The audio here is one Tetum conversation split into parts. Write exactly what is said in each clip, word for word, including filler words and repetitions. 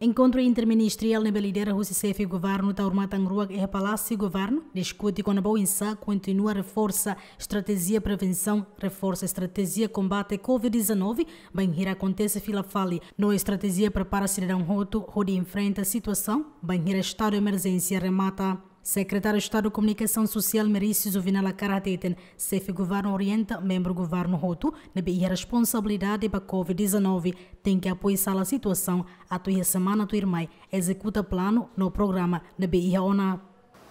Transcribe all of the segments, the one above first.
Enkontru interministeriál ne'ebé lidera husi xefe governu Taur Matan Ruak iha Palásiu Governu diskute kona-ba oinsá kontinua reforsa estratéjia prevensaun, reforsa estratéjia kombate covid dezanove, bainhira akontese fila fali, no estratéjia prepara sidadaun hotu hodi enfrenta situasaun bainhira estadu emerjénsia remata. Sekretáriu Estadu Komunikasaun Sosiál Merício Juvenal Acar hateten, xefe governu orienta membru governu hotu ne'ebé iha responsabilidade ba covid dezanove tenke apoia sala situasaun atu iha semana tuirmai ezekuta planu no programa ne'ebé iha ona.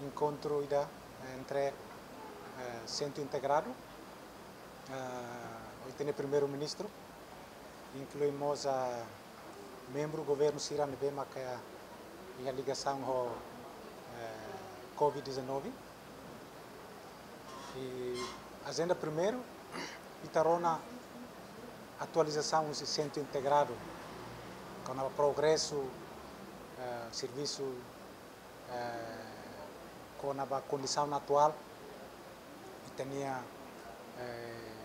Enkontru ida entre, eh, Sentru Integradu, eh, ita-nia Primeiru-Ministru, inklui mós membru governu sira ne'ebé maka iha ligasaun ho, eh, covid dezanove. I ajenda primeiru, ita rona atualizasaun husi Sentru Integradu, kona-ba progresu, eh, servisu, eh, kona-ba kondisaun atuál ita-nia, eh,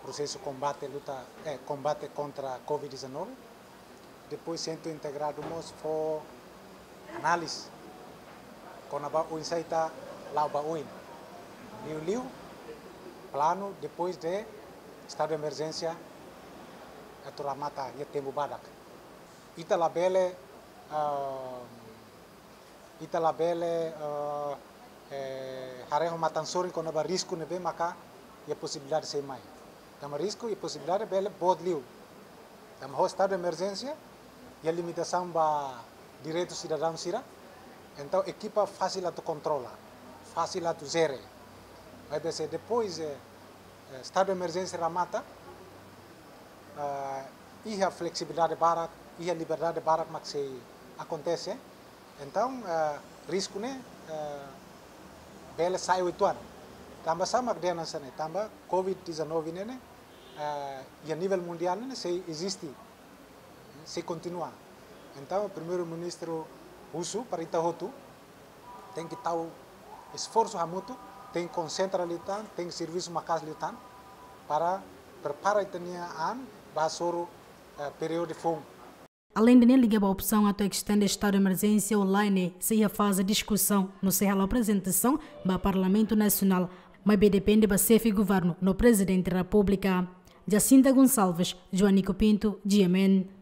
prosesu kombate luta, eh, kombate kontra covid dezanove. Depois Sentru Integradu mós fó análize kona-ba oinsá ita la'o ba oin. Liuliu planu depois de estadu de emerjénsia atu remata iha tempu badak. Ita labele, ah, ita labele, eh, eh, haree ho matan sorin kona-ba risku ne'ebé maka iha posibilidade sei mai. Tanba risku iha posibilidade bele boot liu. Tanba ho estadu de emerjénsia iha limitasaun ba direitu sidadaun sira. Entaun ekipa fasil atu kontrola, fasil atu jere. Maibé se depois, eh, eh, estadu de emerjénsia remata, eh, iha fleksibilidade barak, iha liberdade barak mak sei akontese. Entaun, eh, risku ne'e, eh, bele sai uitoan. Tanba sá mak dehan hanesan ne'e, tanba covid dezanove ne'e, eh, iha nivel mundiál ne'e sei eziste, sei kontinua. Entaun Primeiru-Ministru husu para ita hotu tenke tau esforsu hamutuk, tenke konsentra liután, tenke servisu maka'as liután para prepara ita-nia an ba hasoru, eh, períodu foun. Aleinde ne'e, liga ba opsaun atu estende estadu de emerjénsia ou lae ne'e sei iha faze diskusaun no sei hala'o aprezentasaun ba Parlamentu Nasionál, maibé depende ba xefe governu no Prezidente Repúblika. Jacinta Gonçalves, Joanico Pinto, G M N.